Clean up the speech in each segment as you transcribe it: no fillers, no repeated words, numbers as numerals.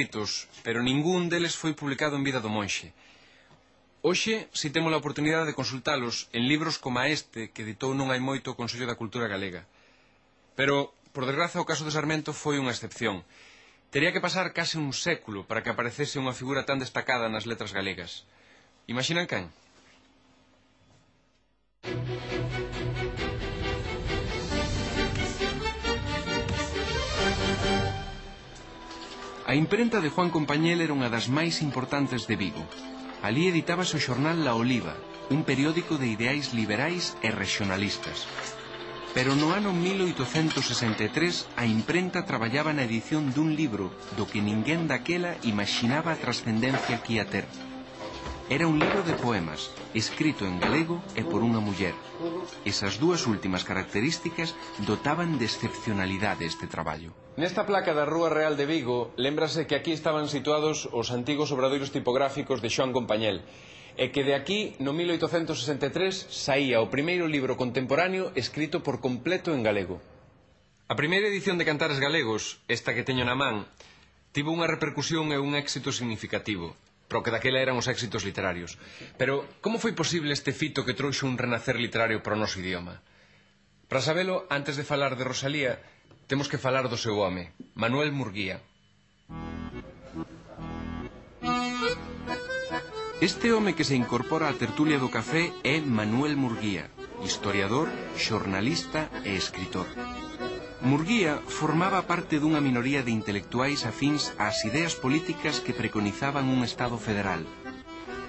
escritos, pero ningún deles foi publicado en vida do monxe. Hoxe, si temos a oportunidade de consultalos en libros como este que editou non hai moito o Consello da Cultura Galega. Pero, por desgraza, o caso de Sarmento foi unha excepción. Tería que pasar case un século para que aparecese unha figura tan destacada nas letras galegas. Imaxinan quen? A imprenta de Juan Compañel era unha das máis importantes de Vigo. Alí editábase o xornal La Oliva, un periódico de ideais liberais e regionalistas. Pero no ano 1863 a imprenta traballaba na edición dun libro do que ninguén daquela imaxinaba a trascendencia que ia ter. Era un libro de poemas, escrito en galego e por unha muller. Esas dúas últimas características dotaban de excepcionalidade este traballo. Nesta placa da Rúa Real de Vigo, lémbrase que aquí estaban situados os antigos obradoiros tipográficos de Xoán Compañel, e que de aquí, no 1863, saía o primeiro libro contemporáneo escrito por completo en galego. A primeira edición de Cantares Galegos, esta que teño na man, tivo unha repercusión e un éxito significativo, pero que daquela eran os éxitos literarios. Pero como foi posible este fito que trouxe un renacer literario para o noso idioma? Para sabelo, antes de falar de Rosalía, temos que falar do seu home, Manuel Murguía. Este home que se incorpora á tertulia do café é Manuel Murguía, historiador, xornalista e escritor. Murguía formaba parte dunha minoría de intelectuais afíns ás ideas políticas que preconizaban un Estado federal.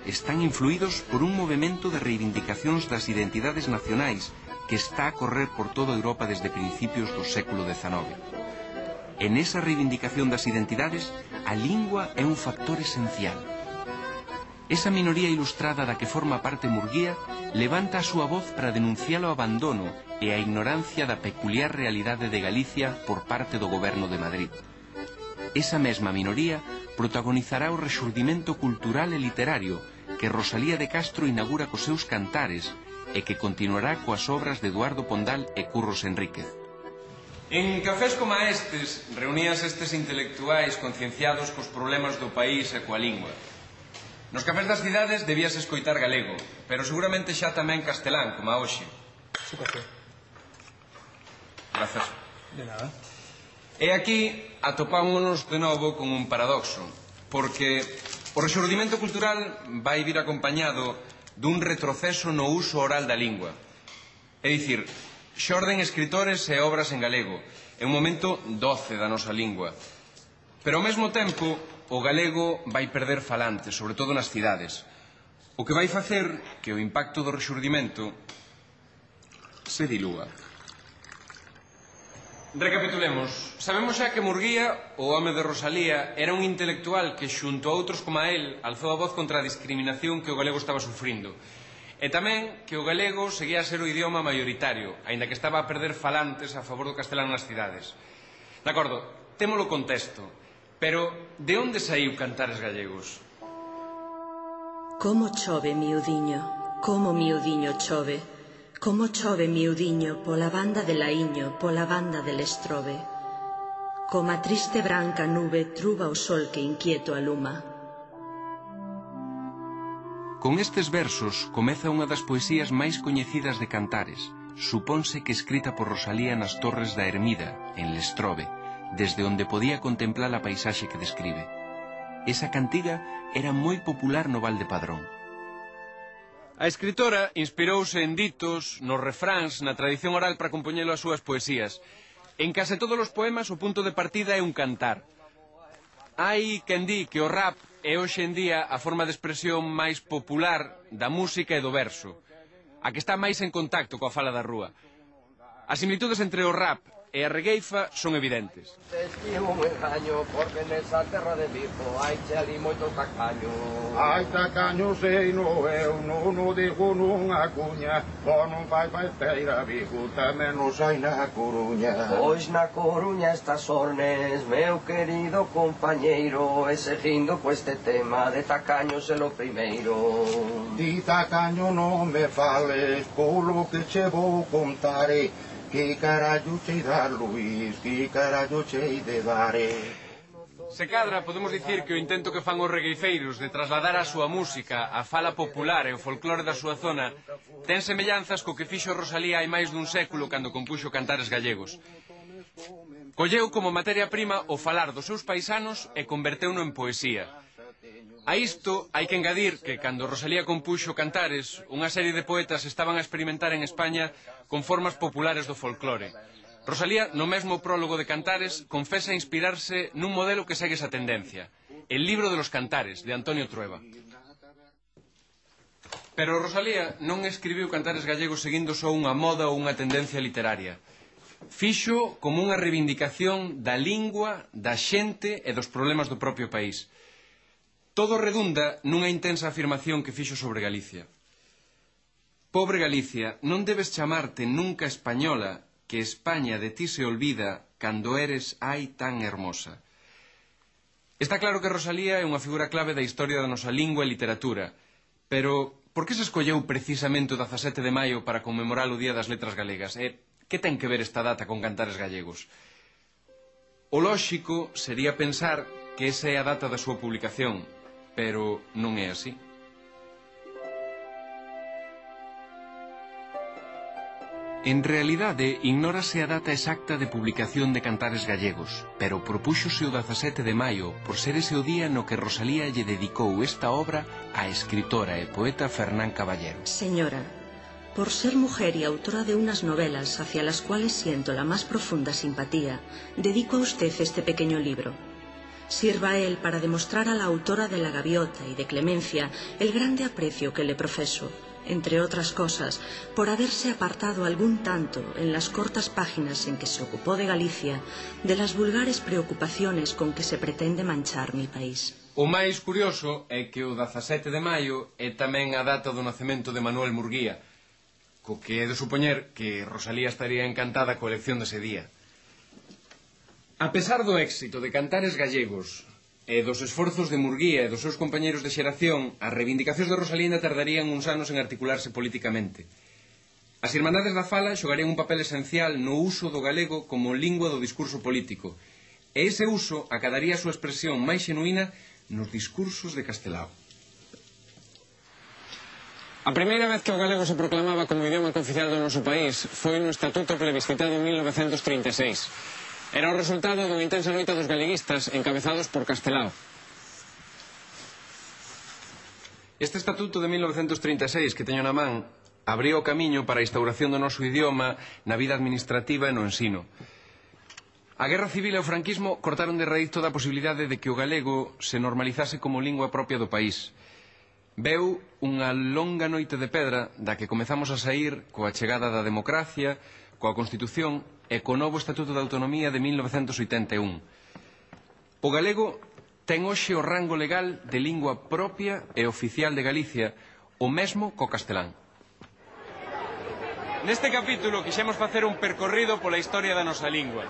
Están influídos por un movimento de reivindicacións das identidades nacionais que está a correr por toda Europa desde principios do século XIX. En esa reivindicación das identidades, a lingua é un factor esencial. Esa minoría ilustrada da que forma parte Murguía levanta a súa voz para denunciar o abandono e a ignorancia da peculiar realidade de Galicia por parte do goberno de Madrid. Esa mesma minoría protagonizará o rexurdimento cultural e literario que Rosalía de Castro inaugura cos seus cantares e que continuará coas obras de Eduardo Pondal e Curros Enríquez. En cafés como estes, reuníanse estes intelectuais concienciados cos problemas do país e coa lingua. Nos cafés das cidades debíase escoitar galego, pero seguramente xa tamén castelán, como a hoxe. Su café. Grazas. De nada. E aquí atopámonos de novo con un paradoxo, porque o rexurdimento cultural vai vir acompañado dun retroceso no uso oral da lingua. É dicir, xorden escritores e obras en galego, é un momento doce da nosa lingua. Pero ao mesmo tempo, o galego vai perder falantes, sobre todo nas cidades, o que vai facer que o impacto do rexurdimento se dilúa. Recapitulemos. Sabemos xa que Murguía, o home de Rosalía, era un intelectual que, xunto a outros como a él, alzou a voz contra a discriminación que o galego estaba sufrindo. E tamén que o galego seguía a ser o idioma maioritario, aínda que estaba a perder falantes a favor do castelán nas cidades. De acordo, témolo contexto, pero de onde saiu Cantares Gallegos? Como chove, miudiño, como miudiño chove. Como chove, miudiño, pola banda de Laíño, pola banda del Estrobe. Como a triste branca nube truba o sol que inquieto aluma. Con estes versos comeza unha das poesías máis coñecidas de Cantares, supónse que escrita por Rosalía nas torres da Ermida, en Lestrobe, desde onde podía contemplar a paisaxe que describe. Esa cantiga era moi popular no Val de Padrón. A escritora inspirouse en ditos, nos refráns, na tradición oral para compoñelo as súas poesías. En case todos os poemas o punto de partida é un cantar. Hai quen di que o rap é hoxe en día a forma de expresión máis popular da música e do verso, a que está máis en contacto coa fala da rúa. As similitudes entre o rap e a regueifa son evidentes. Estivo un engaño porque nesa terra de Vigo hai che ali moito tacaño. Hai tacaño sei no eu, non o digo nunha cuña, o non fai festeira Vigo, tamén nos hai na Coruña. Pois na Coruña estas ornes, meu querido compañeiro, e seguindo co este tema de tacaños é lo primeiro. Di tacaño non me fales, polo que che vou contar. Que carallo chei dar, Luís, que carallo chei de dar. Se cadra, podemos dicir que o intento que fan os regueifeiros de trasladar a súa música, a fala popular e o folclore da súa zona ten semellanzas co que fixo Rosalía hai máis dun século cando compuxo Cantares Gallegos. Colleu como materia prima o falar dos seus paisanos e converteuno en poesía. A isto hai que engadir que cando Rosalía compuxo Cantares, unha serie de poetas estaban a experimentar en España con formas populares do folclore. Rosalía, no mesmo prólogo de Cantares, confesa inspirarse nun modelo que segue esa tendencia, el libro de los Cantares, de Antonio Trueba. Pero Rosalía non escribiu Cantares Gallegos seguindo só unha moda ou unha tendencia literaria. Fixo como unha reivindicación da lingua, da xente e dos problemas do propio país. Todo redunda nunha intensa afirmación que fixo sobre Galicia. Pobre Galicia, non debes chamarte nunca española, que España de ti se olvida cando eres ai tan hermosa. Está claro que Rosalía é unha figura clave da historia da nosa lingua e literatura, pero por que se escolleu precisamente o 17 de maio para conmemorar o Día das Letras Galegas? E que ten que ver esta data con Cantares Gallegos? O lóxico sería pensar que esa é a data da súa publicación, pero non é así. En realidade, ignórase a data exacta de publicación de Cantares Gallegos, pero propúxose o 17 de maio por ser ese o día no que Rosalía lle dedicou esta obra á escritora e poeta Fernán Caballero. Señora, por ser mujer y autora de unas novelas hacia las cuales siento la más profunda simpatía, dedico a usted este pequeño libro. Sirva a él para demostrar a la autora de La Gaviota y de Clemencia el grande aprecio que le profeso, entre otras cosas, por haberse apartado algún tanto, en las cortas páginas en que se ocupó de Galicia, de las vulgares preocupaciones con que se pretende manchar mi país. O máis curioso é que o 17 de maio é tamén a data do nacemento de Manuel Murguía, co que é de supoñer que Rosalía estaría encantada coa elección dese día. A pesar do éxito de Cantares Gallegos e dos esforzos de Murguía e dos seus compañeiros de xeración, as reivindicacións de Rosalía ainda tardarían uns anos en articularse politicamente. As Irmandades da Fala xogarían un papel esencial no uso do galego como lingua do discurso político, e ese uso acadaría a súa expresión máis xenuína nos discursos de Castelao. A primeira vez que o galego se proclamaba como idioma cooficial do noso país foi no Estatuto plebiscitado en 1936. Era o resultado dunha intensa loita dos galeguistas encabezados por Castelao. Este estatuto de 1936 que teño na man abriu o camiño para a instauración do noso idioma na vida administrativa e no ensino. A Guerra Civil e o franquismo cortaron de raíz toda a posibilidade de que o galego se normalizase como lingua propia do país. Veu unha longa noite de pedra da que comezamos a saír coa chegada da democracia, coa Constitución e co novo Estatuto de Autonomía de 1981. O galego ten hoxe o rango legal de lingua propia e oficial de Galicia, o mesmo co castelán. Neste capítulo quixemos facer un percorrido pola historia da nosa lingua.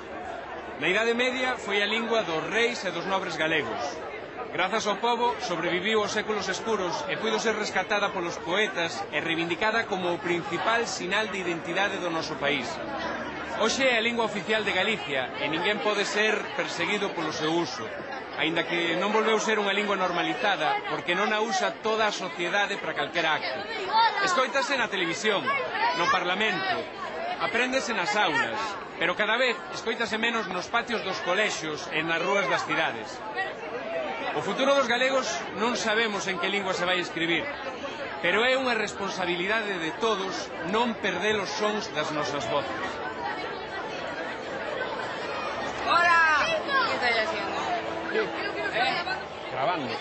Na Idade Media foi a lingua dos reis e dos nobres galegos. Grazas ao pobo sobreviviu aos séculos escuros e puido ser rescatada polos poetas e reivindicada como o principal sinal de identidade do noso país. Hoxe é a lingua oficial de Galicia e ninguén pode ser perseguido polo seu uso, aínda que non volveu ser unha lingua normalizada porque non a usa toda a sociedade para calquera acto. Escoítase na televisión, no Parlamento, apréndese nas aulas, pero cada vez escoítase menos nos patios dos colexios e nas rúas das cidades. O futuro dos galegos non sabemos en que lingua se vai escribir, pero é unha responsabilidade de todos non perder os sons das nosas voces. ¡Hola! ¿Qué estáis haciendo? Grabando.